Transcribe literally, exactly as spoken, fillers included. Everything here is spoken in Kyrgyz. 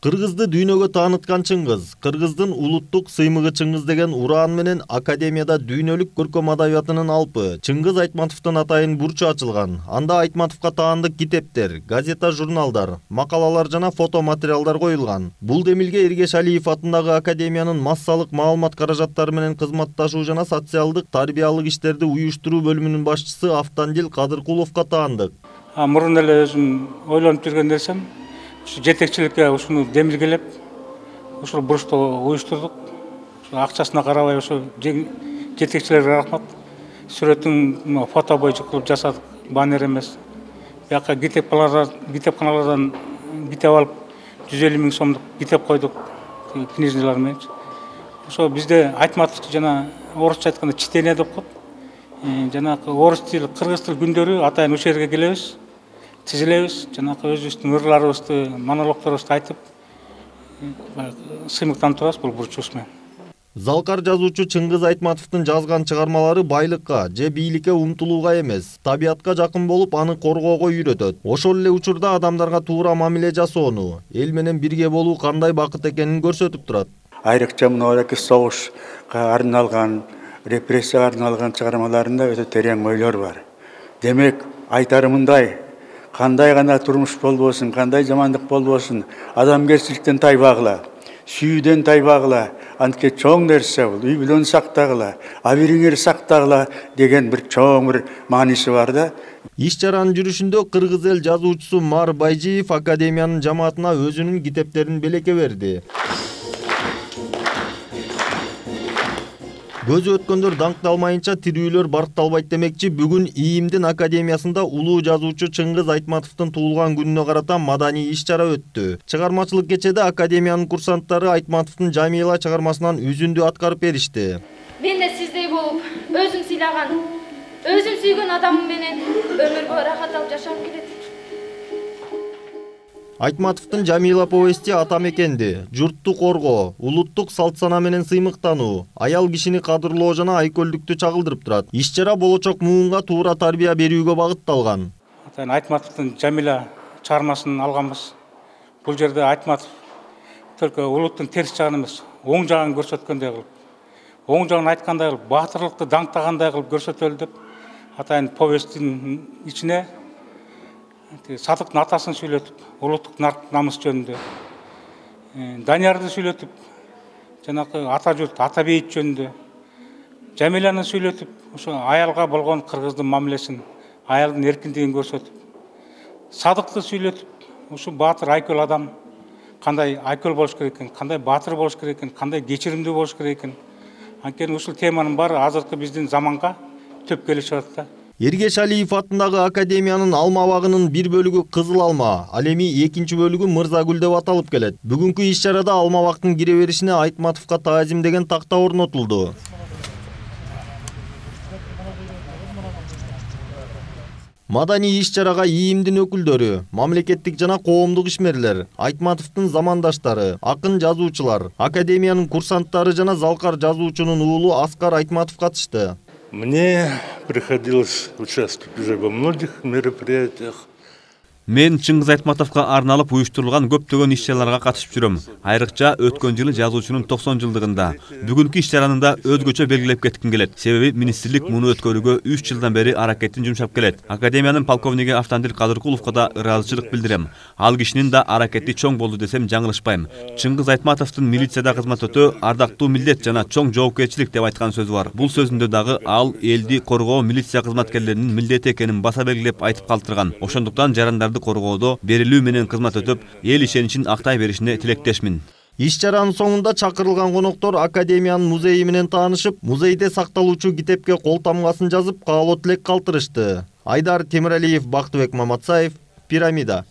Кыргызды дүйнөгө тааныткан Чыңгыз, Кыргыздын улуттук сыймыгы Чыңгыз деген ураан менен Академияда дүйнөлүк көркөм адабиятынын алпы Чыңгыз Айтматовдун атайын бурчу ачылган. Анда Айтматовго таандык китептер, газета, журналдар, макалалар жана фото материалдар коюлган. Бул демилге Эргеш Алиев атындагы Академиянын массалык маалымат каражаттары менен кызматташуу жана социалдык тарбиялык иштерди уюштуруу бөлүмүнүн башчысы Автандил Кадыркуловго таандык. Мурун эле өзүм ойлонуп жүргөн нерсем жетекчиликке ушуну демилгелеп, ушул бурчту уюштурдук. Акчасына карабай ошо жетекчилерге рахмат. Сүрөтүн фото боюнча кылып жасадык, баннер эмес. Бияка китепканалардан китеп алып, жүз элүү миң сомдук китеп койдук, книжналар менен. Ошо бизде Айтматов жана орусча айтканда чтение деп коет. Жанагы орус тили, кыргыз тил күндөрү атайын ошол жерге келебиз. Тизилебиз, жанагы өзүбүздүн ырларыбызды, монологторубузду айтып, сыймыктанып турабыз бул бурчубуз менен. Залкар жазуучу Чыңгыз Айтматовдун жазган чыгармалары байлыкка же бийликке умтулууга эмес, табиятка жакын болуп, аны коргоого үйрөтөт. Ошол эле учурда адамдарга туура мамиле жасоону, эл менен бирге болуу кандай бакыт экенин көрсөтүп турат. Айрыкча мынабеки согушка арналган, репрессияга арналган чыгармаларында өтө терең ойлор бар. Демек, айтарым мындай: кандай гана турмуш болбосун, кандай жамандык болбосун, адамгерчиликтен тайбагыла, сүйүүдөн тайбагыла, антке чоң нерсе бул, үй бүлөнү сактагыла, абириңер сактагыла деген бир чоң бир мааниси бар да. Иш чаранын жүрүшүндө кыргыз эл жазуучусу Мар Байжиев Академиянын жамаатына өзүнүн китептерин белекке берди. Көзү өткөндөр даңкталмайынча тирүүлөр баркталбайт демекчи, бүгүн ИИМдин Академиясында улуу жазуучу Чыңгыз Айтматовдун туулган күнүнө карата маданий иш-чара өттү. Чыгармачылык кечеде Академиянын курсанттары Айтматовдун Жамила чыгармасынан үзүндү аткарып беришти. Мен да сиздей болуп, өзүм сыйлаган, өзүм сүйгөн адамым менен өмүргө рахат алып жашагым келет. Айтматовдун Жамила повести ата мекенди, журтту коргоо, улуттук салт сана менен сыймыктануу, аял кишини кадырлоо жана айкөлдүктү чагылдырып турат. Иш-чара болочок муунга туура тарбия берүүгө багытталган. Атайын Айтматовдун Жамила чыгармасын алганбыз. Бул жерде Айтматов только улуттун терс жагын эмес, оң жагын көрсөткөндөй кылып, оң жагын айткандай кылып, баатырлыкты даңктагандай кылып көрсөтөлү деп, атайын повесттин ичине Садыктын атасын сүйлөтүп, улуттук намыс жөнүндө, Даниярды сүйлөтүп, жанагы ата журт, ата бейит жөнүндө, Жамиланы сүйлөтүп, ошо аялга болгон кыргыздын мамилесин, аялдын эркиндигин көрсөтүп, Садыкты сүйлөтүп, ушу баатыр айкөл адам кандай айкөл болуш керек экен, кандай баатыр болуш керек экен, кандай кечиримдүү болуш керек экен. Анткени ушул теманын баары азыркы биздин заманга төп келип атат да. Эргеш Алиев атындагы Академиянын алма багынын бир бөлүгү Кызыл алма, ал эми экинчи бөлүгү Мырзагүл деп аталып келет. Бүгүнкү иш-чарада алма бактын кире беришине Айтматовго таазим деген такта орнотулду. Маданий иш-чарага ИИМдин өкүлдөрү, мамлекеттик жана коомдук ишмерлер, Айтматовдун замандаштары, акын жазуучулар, Академиянын курсанттары жана Залкар жазуучунун уулу Аскар Айтматов катышты. Мне приходилось участвовать уже во многих мероприятиях. Мен Чыңгыз Айтматовго арналып уюштурулган көптөгөн иш-чараларга катышып жүрөм. Айрыкча өткөн жылы жазуучунун токсон жылдыгында. Бүгүнкү иш-чараны да өзгөчө белгилеп кетким келет. Себеби министрлик муну өткөрүүгө үч жылдан бери аракетин жумшап келет. Академиянын полковниги Автандил Кадыркуловго да ыраазычылык билдирем. Ал кишинин да аракети чоң болду десем жаңылышпайм. Чыңгыз Айтматовдун милицияда кызмат өтөө ардактуу милдет жана чоң жоопкерчилик деп айткан сөзү бар. Бул сөзүндө дагы ал элди коргоо милиция кызматкерлеринин милдети экенин баса белгилеп айтып калтырган. Ошондуктан жарандарды коргоодо берилүү менен кызмат өтүп, эл ишеничин актай беришине тилектешмин. Иш-чаранын соңунда чакырылган коноктор Академиянын музейи менен таанышып, музейде сакталуучу китепке кол тамгасын жазып, каалоо тилек калтырышты. Айдар Темиралиев, Бактыбек Маматсаев, Пирамида.